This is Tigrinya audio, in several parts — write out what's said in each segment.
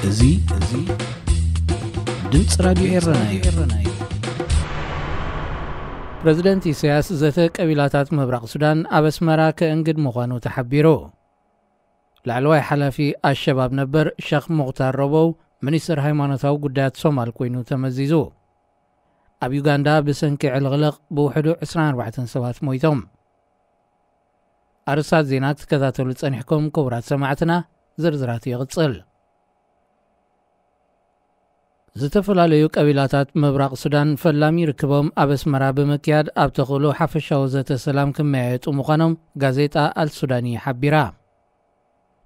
እዚ፣ እዚ ድምፂ ራዲዮ ኤረና እዩ። ፕረዚደንት ኢሳያስ ዘተ ቀቢላታት ምብራቕ ሱዳን ኣብ ኣስመራ ከእንግድ ምዃኑ ተሓቢሩ። ላዕለዋይ ሓላፊ ኣሸባብ ነበር ሸኽ ሙኽታር ረቦው ሚኒስትር ሃይማኖታዊ ጉዳያት ሶማል ኮይኑ ተመዚዙ። ኣብ ዩጋንዳ ብሰንኪ ዕልቕልቕ ብውሕዱ ዕስራን ኣርባዕተን ሰባት ሞይቶም። ኣርእስታት ዜና ክትከታተሉ ጸኒሕኩም ክቡራት ሰማዕትና፣ ዝርዝራቱ ይቕጽል። ዝተፈላለዩ ቀቢላታት ምብራቕ ሱዳን ፈላሚ ርክቦም ኣብ ኣስመራ ብምክያድ ኣብ ተኽእሎ ሓፈሻዊ ዘተ ሰላም ክመያየጡ ምዃኖም ጋዜጣ ኣልሱዳኒ ሓቢራ።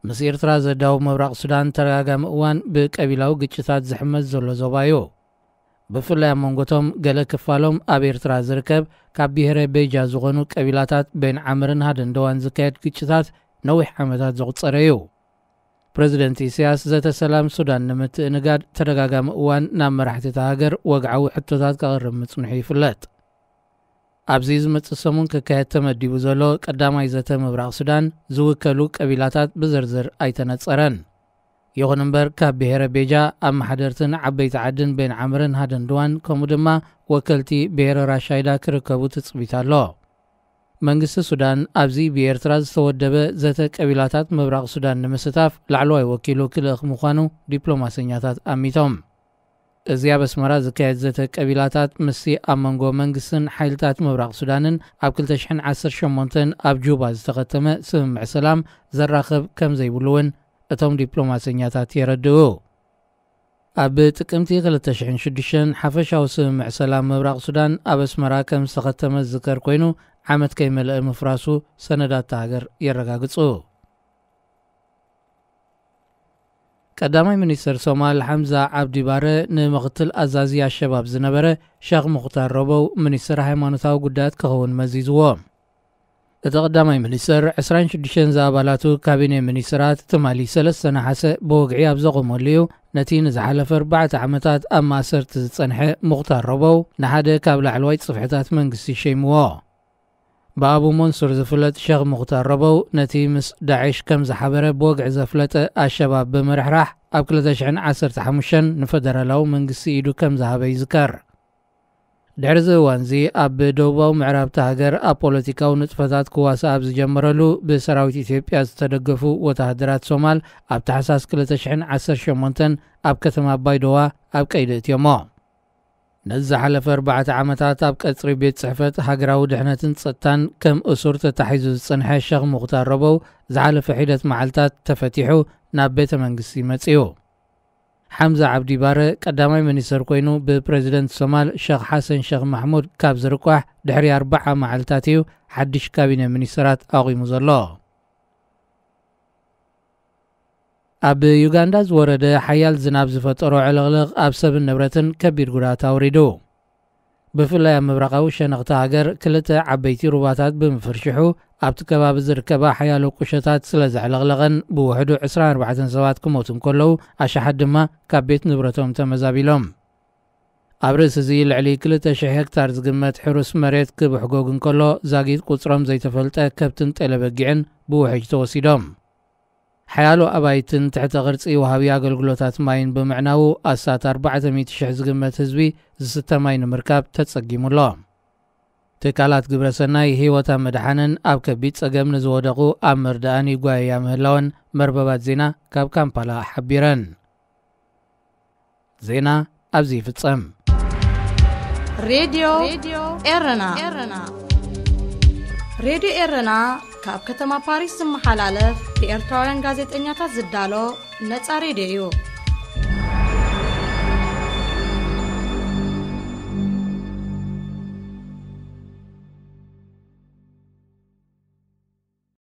ምስ ኤርትራ ዘዳውብ ምብራቕ ሱዳን ተደጋጋሚ እዋን ብቀቢላዊ ግጭታት ዝሕመስ ዘሎ ዞባ እዩ። ብፍላይ ኣብ መንጎቶም ገለ ክፋሎም ኣብ ኤርትራ ዝርከብ ካብ ብሄረ ቤጃ ዝኾኑ ቀቢላታት ቤን ዓምርን ሃደንደዋን ዝካየድ ግጭታት ነዊሕ ዓመታት ዘቑጸረ እዩ። ፕረዚደንት ኢሳያስ ዘተ ሰላም ሱዳን ንምትእንጋድ ተደጋጋሚ እዋን ናብ መራሕቲ እታ ሃገር ወግዓዊ ሕቶታት ከቕርብ ምጽንሑ ይፍለጥ። ኣብዚ ዝመጽእ ሰሙን ክካየድ ተመዲቡ ዘሎ ቀዳማይ ዘተ ምብራቕ ሱዳን ዝውከሉ ቀቢላታት ብዝርዝር ኣይተነጸረን። ይኹን እምበር ካብ ብሄረ ቤጃ ኣመሓደርትን ዓበይቲ ዓድን ቤን ዓምርን ሃደንድዋን ከምኡ ድማ ወከልቲ ብሄረ ራሻይዳ ክርከቡ ትጽቢት ኣሎ። መንግስቲ ሱዳን ኣብዚ ብኤርትራ ዝተወደበ ዘተ ቀቢላታት ምብራቕ ሱዳን ንምስታፍ ላዕለዋይ ወኪሉ ክልእኽ ምዃኑ ዲፕሎማሰኛታት ኣሚቶም። እዚ ኣብ ኣስመራ ዝካየድ ዘተ ቀቢላታት ምስቲ ኣብ መንጎ መንግስትን ሓይልታት ምብራቕ ሱዳንን ኣብ ክልተ ሽሕን ዓሰርተ ሸሞንተን ኣብ ጁባ ዝተኸተመ ስምምዕ ሰላም ዘራኽብ ከም ዘይብሉ እውን እቶም ዲፕሎማሰኛታት የረድኡ። ኣብ ጥቅምቲ ክልተ ሽሕን ሽዱሽተን ሓፈሻዊ ስምምዕ ሰላም ምብራቕ ሱዳን ኣብ ኣስመራ ከም ዝተኸተመ ዝዝከር ኮይኑ፣ ዓመት ከይመልአ ምፍራሱ ሰነዳት እታ ሃገር የረጋግጹ። ቀዳማይ ሚኒስተር ሶማል ሓምዛ ዓብዲ ባረ ንምኽትል ኣዛዚ ኣሸባብ ዝነበረ ሸኽ ሙኽታር ረቦው ሚኒስተር ሃይማኖታዊ ጉዳያት ክኸውን መዚዝዎ። እቲ ቀዳማይ ሚኒስተር ዕስራን ሽዱሽተን ዝኣባላቱ ካቢኔ ሚኒስተራት ትማሊ ሰለስተ ነሓሰ ብወግዒ ኣብ ዘቖመሉ እዩ፣ ነቲ ንዝሓለፈ ኣርባዕተ ዓመታት ኣብ ማእሰርቲ ዝጸንሐ ሙኽታር ረቦው ንሓደ ካብ ላዕለዋይ ጽፍሕታት መንግስቲ ሸይምዎ። ብኣቡ መንሱር ዝፍለጥ ሸኽ ሙኽታር ረቦው ነቲ ምስ ዳዕሽ ከም ዝሓበረ ብወግዒ ዘፍለጠ ኣሸባብ ብምርሕራሕ ኣብ ክልተ ሽሕን ዓሰርተ ሓሙሽተን ንፈደራላዊ መንግስቲ ኢዱ ከም ዝሃበ ይዝከር። ድሕሪ እዚ እዋን እዚ ኣብ ደቡባዊ ምዕራብ እታ ሃገር ኣብ ፖለቲካዊ ንጥፈታት ክዋሳእ ኣብ ዝጀመረሉ ብሰራዊት ኢትዮጵያ ዝተደገፉ ወተሃደራት ሶማል ኣብ ታሕሳስ ክልተ ሽሕን ዓሰርተ ሸሞንተን ኣብ ከተማ ባይዶዋ ኣብ ቀይዲ እትዮሞ። ነዚ ዝሓለፈ ኣርባዕተ ዓመታት ኣብ ቀጽሪ ቤት ጽሕፈት ሃገራዊ ድሕነትን ጸጥታን ከም እሱር ተታሒዙ ዝጸንሐ ሸኽ ሙኽታር ረቦው ዝሓለፈ ሒደት መዓልታት ተፈቲሑ ናብ ቤተ መንግስቲ መጺኡ። ሓምዛ ዓብዲ ባረ ቀዳማይ ሚኒስተር ኮይኑ ብፕረዚደንት ሶማል ሸኽ ሓሰን ሸኽ ማሕሙድ ካብ ዝርቋሕ ድሕሪ ኣርባዓ መዓልታት እዩ ሓድሽ ካቢነ ሚኒስተራት ኣቑሙ ዘሎ። ኣብ ዩጋንዳ ዝወረደ ሓያል ዝናብ ዝፈጠሮ ዕልቕልቕ ኣብ ሰብን ንብረትን ከቢድ ጉድኣት ኣውሪዱ። ብፍላይ ኣብ ምብራቓዊ ሸነኽቲ ሃገር ክልተ ዓበይቲ ሩባታት ብምፍርሽሑ ኣብቲ ከባቢ ዝርከባ ሓያሎ ቁሸታት ስለ ዘዕለቕለቐን ብውሕዱ ዕስራን ኣርባዕተን ሰባት ክሞቱ እንከለዉ ኣሽሓት ድማ ካብ ቤት ንብረቶም ተመዛቢሎም። ኣብ ርእሲ እዚ ልዕሊ ክልተ ሽሕ ሄክታር ዝግመት ሕሩስ መሬት ክብሕጎግ እንከሎ ዛጊት ቁጽሮም ዘይተፈልጠ ከብትን ጤለበጊዕን ብውሕጅ ተወሲዶም። ሓያሎ ኣባይትን ትሕተ ቅርጺ ወሃቢ ኣገልግሎታት ማይን ብምዕናዉ ኣስታት ኣርባዕተ ሚእቲ ሽሕ ዝግመት ህዝቢ ዝስተ ማይ ንምርካብ ተጸጊሙ ኣሎ። ትካላት ግብረ ሰናይ ህይወት ኣብ ምድሓንን ኣብ ከቢድ ጸገም ንዝወደቑ ኣብ ምርዳእን ይጓየያ ምህላወን መርበባት ዜና ካብ ካምፓላ ሓቢረን። ዜና ኣብዚ ይፍጸም። ሬድዮ ኤረና። ሬድዮ ኤረና ካብ ከተማ ፓሪስ ዝመሓላለፍ ብኤርትራውያን ጋዜጠኛታት ዝዳሎ ነጻ ሬድዮ እዩ።